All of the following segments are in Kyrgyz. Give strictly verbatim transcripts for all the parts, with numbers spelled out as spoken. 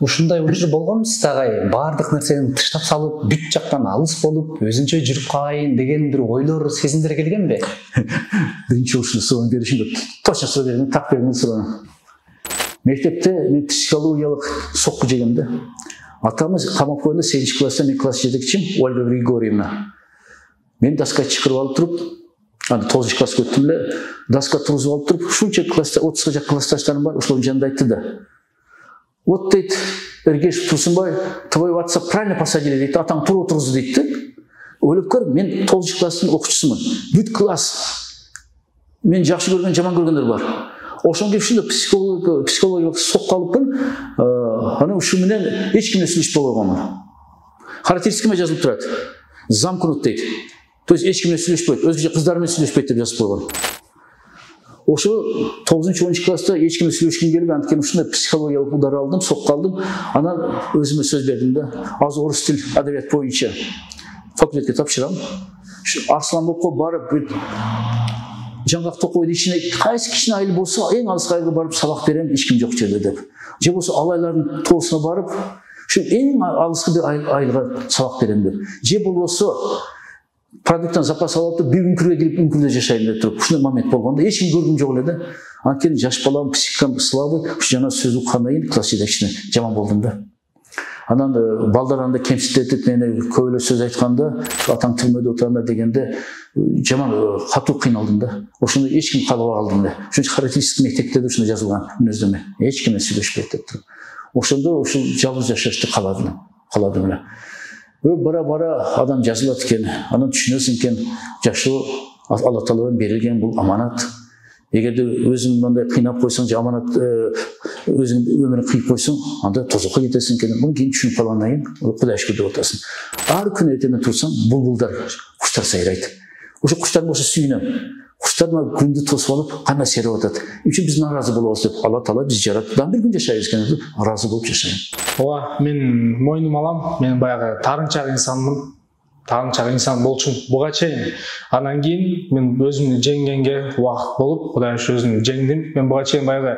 Ушундай учур болгонбу сизге? Баардык нерсени тыштап салып, бүт жактан алыс болуп, өзүнчө жүрүп калайын деген бир ойлор, сезимдер келгенби? Биринчи ушул суроону беришимде точно суроо бердим, так бердим суроону. Мектепте мен психологиялык сокку жегем да. Атамыз камап койгонда сегизинчи класста мен класс жетекчим Ольга Григорьевна. Мен даска чакырып алып туруп, анда тогузунчу класска өттүм эле, даска тургузуп алып туруп, ушунча класста отузга жакын классташтарым бар, ошолордун жанында айтты да. Вот дейт, Эргешев Турсунбай, твоего отца правильно посадили, дейт, атаң тура отургузду дейт да. Ойлоп көр, мен тогузунчу класстын окуучусумун. Бүт класс мен жакшы көргөн, жаман көргөндөр бар. Ошон кийин ушундай психологиялык психологиялык сокко алыппын. Аны ушу менен эч ким менен сүйлөшпөй койгонмун. Характеристикаме жазылып турат. Замкнут дейт. То есть эч ким менен сүйлөшпөйт, өзгөчө кыздар менен сүйлөшпөйт деп жазып койгон. Ошо тогузунчу онунчу класста эч ким менен сүйлөшкүм келбей, анткени ушундай психологиялык удар алдым, сокко алдым. Анан өзүмө сөз бердим да, азыр орус тил адабият боюнча факультетке тапшырам. Арслан Бопко барып, жаңгак токойдун ичине кайсы кичине айыл болсо, эң алыска айылга барып сабак берем, эч ким жок жерде деп. Же болсо алайлардын тоосуна барып, ушу эң алыскы бир айылга сабак берем деп. Же болбосо продукттан запас алып, бир үңкүргө кирип үңкүрдө жашайм деп туруп, ушундай момент болгондо эч ким көргүм жок эле да. Анткени жаш балам, психикам слабый, ушу жана сөз уккандан кийин класс жетекчисине жаман болдум да. Анан балдар анда кемситетип мени көп эле сөз айтканда, атаң түрмөдө отурганда дегенде жаман катуу кыйналдым да. Ошондо эч ким калбай калдым да. Ошончо характеристик мектепте да ушундай жазылган мүнөздөмө. Эч ким менен сүйлөшпөйт деп туруп. Ошондо ушул жалгыз жашашты каладым. Каладым эле. Бара-бара адам жазылат экен, анан түшүнөсүң экен, жашоо Алла Тааладан берилген бул аманат. Эгерде өзүң мындай кыйнап койсоң, же аманат өзүң өмүрүн кыйып койсоң, анда тозокко кетесиң экен. Муну кийин түшүнүп калгандан кийин Кудайга шүкүр деп атасың. Ар күнү эртемен турсаң, булбулдар, куштар сайрайт. Ошо куштардын ошо сүйүнөм. Куштар мына күндү тосуп алып, кандай серип атат. Үчүн биз наразы болобуз деп, Алла Таала биз жаратты. Дан бир күн жашайбыз экен деп, ыраазы болуп жашайм. Ооба, мен мойнум алам. Мен баягы тарынчак инсанмын. Тарынчак инсан болчумун буга чейин. Анан кийин мен өзүмдү жеңгенге убакыт болуп, Кудай ушу өзүмдү жеңдим. Мен буга чейин баягы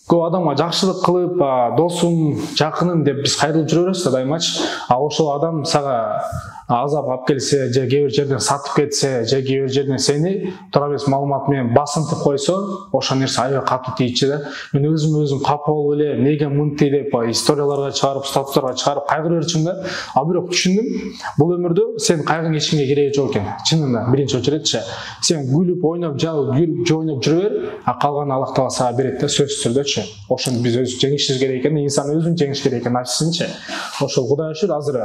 көп адамга жакшылык кылып, досум, жакыным деп биз кайрылып жүрө беребиз да дайымачы. А ошол адам сага азап алып келсе, же кээ бир жерден сатып кетсе, же кээ бир жерден сени туура эмес маалымат менен басынтып койсо, ошол нерсе аябай катуу тийчү да. Мен өзүм өзүм капа болуп эле, неге мынтый деп историяларга чыгарып, статустарга чыгарып кайгырып берчүмүн да. А бирок түшүндүм, бул өмүрдө сен кайгың эч кимге кереги жок экен. Чынында биринчи очередчи. Сен күлүп, ойноп, жабып, күлүп, ойноп жүрө бер, а калган Аллах Таала сага берет да, сөзсүз түрдөчү. Ошону биз өз жеңишибиз керек экен, инсан өзүн жеңиш керек экен, ачысынчы. Ошол Кудай үчүн азыр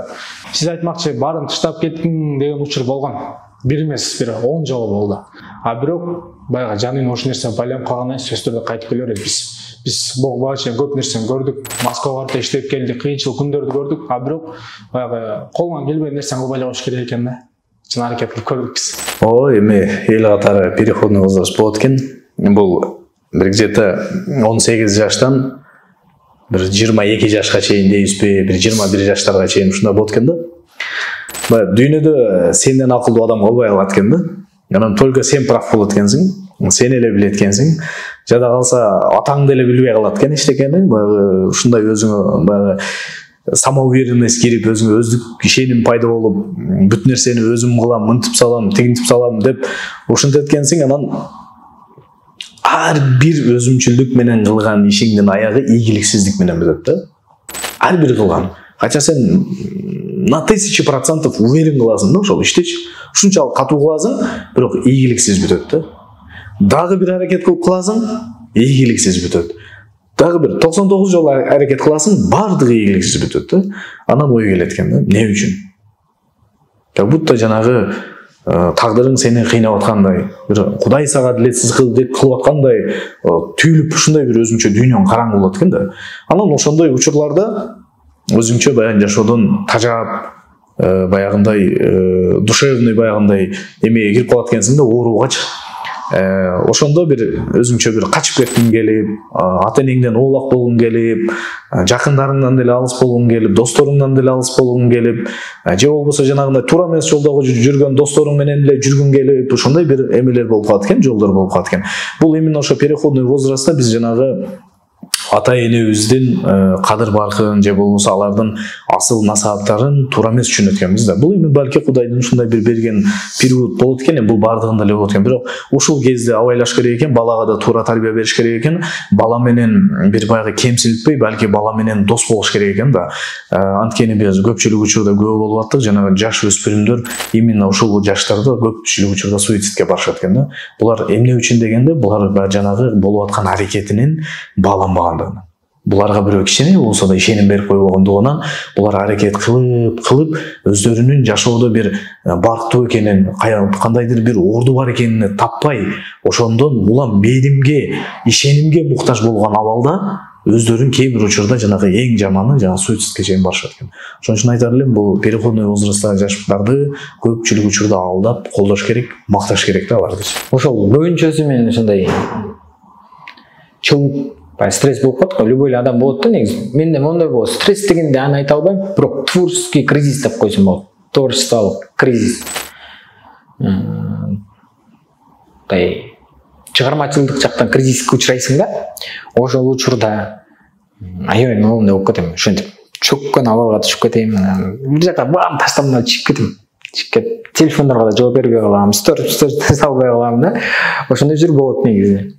сиз айтмакчы баарын таштап кеттиң деген учур болгон. Бир эмес, бир он жолу болду. А бирок баягы жанын ошол нерсе байланып калгандан кийин сөзсүз түрдө кайтып келе берет. Биз биз буга чейин көп нерсени көрдүк. Москвага барып иштеп келдик, кыйынчылык күндөрдү көрдүк. А бирок баягы колуңан келбеген нерсени кылбай эле коюш керек экен да. Чын аракет кылып көрдүк биз. Ой, эми эл катары переходный возраст болот экен. Бул бир где-то он сегиз жаштан бир жыйырма эки жашка чейин дейбизби, бир жыйырма бир жаштарга чейин ушундай болот экен да. Баягы дүйнөдө сенден акылдуу адам болбой калат экен да. Анан только сен прав болот экенсиң, сен эле билет экенсиң. Жада калса атаңды эле билбей калат экен эчтекени. Баягы ушундай өзүңө баягы самоуверенность кирип, өзүңө өздүк ишеним пайда болуп, бүт нерсени өзүм кылам, мынтип салам, тигинтип салам деп ушинтип эткенсиң, анан ар бир өзүмчүлдүк менен кылган ишиңдин аягы ийгиликсиздик менен бүтөт да. Ар бир кылган. Кача сен на тысячу процентов уверен кыласың да ошол иштечи. Ушунчалык катуу кыласың, бирок ийгиликсиз бүтөт да. Дагы бир аракет кылып кыласың, ийгиликсиз бүтөт. Дагы бир токсон тогуз жолу аракет кыласың, бардыгы ийгиликсиз бүтөт да. Анан ой келет экен да, эмне үчүн? Как будто жанагы тагдырың сени кыйнап аткандай, бир Кудай сага дилетсиз кылып аткандай түйүлүп ушундай бир өзүңчө дүйнөң караңгы болот экен да. Анан ошондой учурларда өзүңчө баягы жашоодон тажап, баягындай душевный баягындай эмеге кирип калат экенсиң да, ооругачы. Ошондо бир өзүңчө бир качып кеткиң келип, ата энеңден оолак болгуң келип, жакындарыңдан деле алыс болгуң келип, досторуңдан деле алыс болгуң келип, же болбосо жанагындай туура эмес жолдогу жүргөн досторуң менен деле жүргүң келип, ошондой бир эмелер болуп калат экен, жолдор болуп калат экен. Бул именно ошо переходный возрастта биз жанагы ата энебиздин кадыр баркын же болбосо алардын асыл насааттарын туура эмес түшүнөт экенбиз да. Бул эми балки Кудайдын ушундай бир берген период болот экен, бул бардыгында эле болот экен. Бирок ушул кезде абайлаш керек экен, балага да туура тарбия бериш керек экен. Бала менен бир баягы кемсинтпей, балки бала менен дос болуш керек экен да. Анткени биз көпчүлүк учурда күбө болуп аттык, жанагы жаш өспүрүмдөр именно ушул жаштарда көпчүлүк учурда суицидке барышат экен да. Булар эмне үчүн дегенде, булар жанагы болуп аткан аракетинин бааланбагандыгынан. Буларга бирөө кичине болсо да ишеним берип койбогондугунан булар аракет кылып кылып өздөрүнүн жашоодо бир барктуу экенин, кандайдыр бир орду бар экенин таппай, ошондон улам мээримге, ишенимге муктаж болгон абалда өздөрүн кээ бир учурда жанагы эң жаманы жана суицидке чейин барышат экен. Ошон үчүн айтар элем, бул переходной возрасттагы жаштарды көпчүлүк учурда алдап колдош керек, макташ керек да аларды. Ошол көбүнчөсү менен ошондой чоң стресс болуп калат го, любой адам болот да негизи. Менде моундай болот. Стресс дегенде аны айта албайм, бирок творческий кризис деп койсом болот. Творчестволук кризис. Тай чыгармачылык жактан кризиске учурайсың да. Ошол учурда аябай моундай болуп кетем. Ошентип чөккөн абалга түшүп кетем. Бир жака баарын таштап мына чыгып кетем. Чыгып кетип телефондорго да жооп бербей калам, стор салбай калам да. Ошондой жүрүп болот негизи.